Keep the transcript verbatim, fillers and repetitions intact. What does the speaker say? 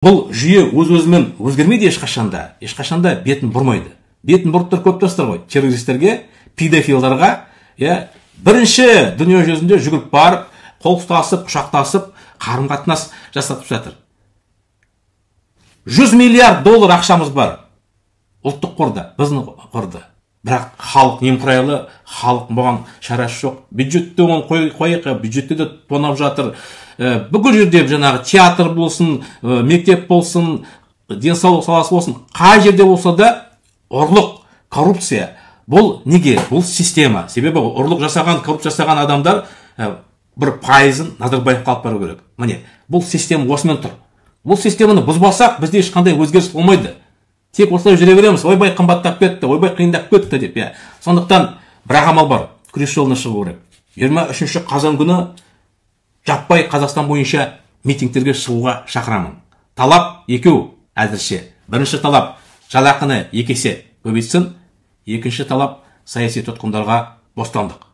Бұл жүйе өз-өзімен өзгермейді ешқашанда, ешқашанда бетін бұрмайды. Бетін бұрып тұр көп достар ғой, террористерге, педофилдарға, я бірінші дүние жүзінде жүгіріп барып, қол ұстасып, құшақтасып, қарым-қатынас жасатып жатыр. жүз миллиард доллар ақшамыз бар. Ұлттық қорда, біздің қорда. Бірақ халық немқұрайлы, халық бұған шарасы жоқ. Бюджетте оны қойық, бюджетте де тонап жатыр. Бүкіл жерде жаңағы театр болсын, мектеп болсын, денсаулық саласы болсын, қай жерде болса да ұрлық, коррупция. Бұл неге? Бұл система. Себебі ұрлық жасаған, коррупция жасаған адамдар бір пайызын Назарбаев қалып бару керек. Міне, бұл система осымен тұр. Бұл системаны бұзбасақ, бізде ешқандай өзгеріс болмайды. Тек осылай жүре береміз, ойбай қымбаттап кетті, ойбай қиындап кетті деп. Сондықтан бір амал бар, күрес жолына шығу керек. жиырма үшінші қазан күні жаппай Қазақстан бойынша митингтерге шығуға шақырамын. Талап екеу әзірше. Бірінші талап жалақыны екі есе көбейтсін, екінші талап саяси тұтқындарға бостандық.